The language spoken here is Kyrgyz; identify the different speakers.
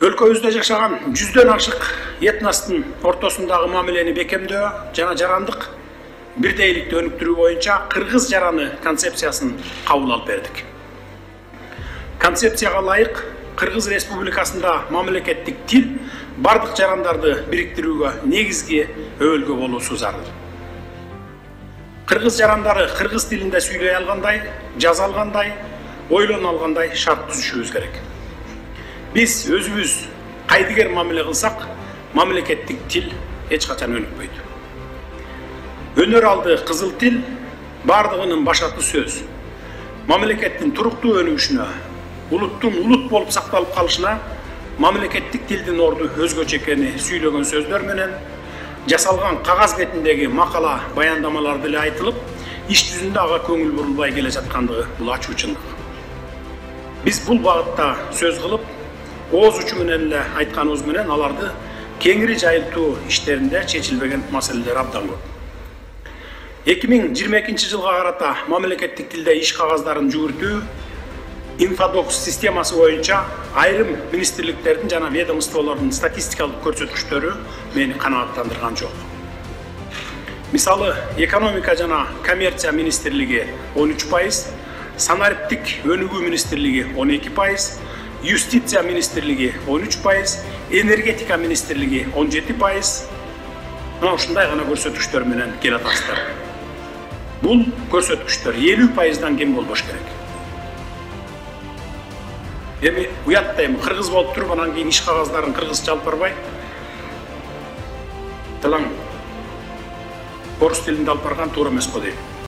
Speaker 1: Өлкөбүздө жашаган жүздөн ашык этностун ортосундагы мамилени бекемдөө жана жарандык бирдейликти өнүктүрүү боюнча кыргыз жараны концепциясын кабыл алып бердик. Концепцияга ылайык Кыргыз Республикасында мамлекеттик тил бардык жарандарды бириктирүүгө негизги өбөлгө болуусу зарыл. Кыргыз жарандары кыргыз тилинде сүйлөй алгандай, жаза алгандай, ойлоно алгандай шарт түзүшүбүз керек. Биз өзүбүз кайдыгер мамиле кылсак, мамлекеттик тил эч качан өнүкпөйт. Өнөр алды кызыл тил бардыгынын башаты сөз. Мамлекеттин туруктуу өнүгүшүнө, улуттун улут болуп сакталып калышына мамлекеттик тилдин орду өзгөчө экени сүйлөгөн сөздөр менен жасалган кагаз бетиндеги макала баяндамаларды эле айтылып, иш жүзүндө ага көңүл бурулбай келе жаткандыгы бул ачуу чындык. Биз бул багытта сөз кылып, ооз учу менен эле айтканыбыз менен аларды кеңири жайылтуу иштеринде чечилбеген маселелер абдан көп. 2022 жылга карата мамлекеттик тилде иш кагаздарын жүгүртүү Инфодокс системасы боюнча айрым министрликтердин жана ведомстволордун статистикалык көрсөткүчтөрү мени канааттандырган жок. Мисалы, экономика жана коммерция министрлиги 13%, санариптик өнүгүү министрлиги 12%, юстиция министрлиги 13%, энергетика министрлиги 17%. Мына ушундай гана көрсөткүчтөр менен келатасыздар. Бул көрсөткүчтөр 50%дан кем болбош керек. Эми уяттайм, кыргыз болуп туруп, анан кийин иш кагаздарын кыргызча алып барбай, тылаң орус тилинде алып барган туура эмес го дейм.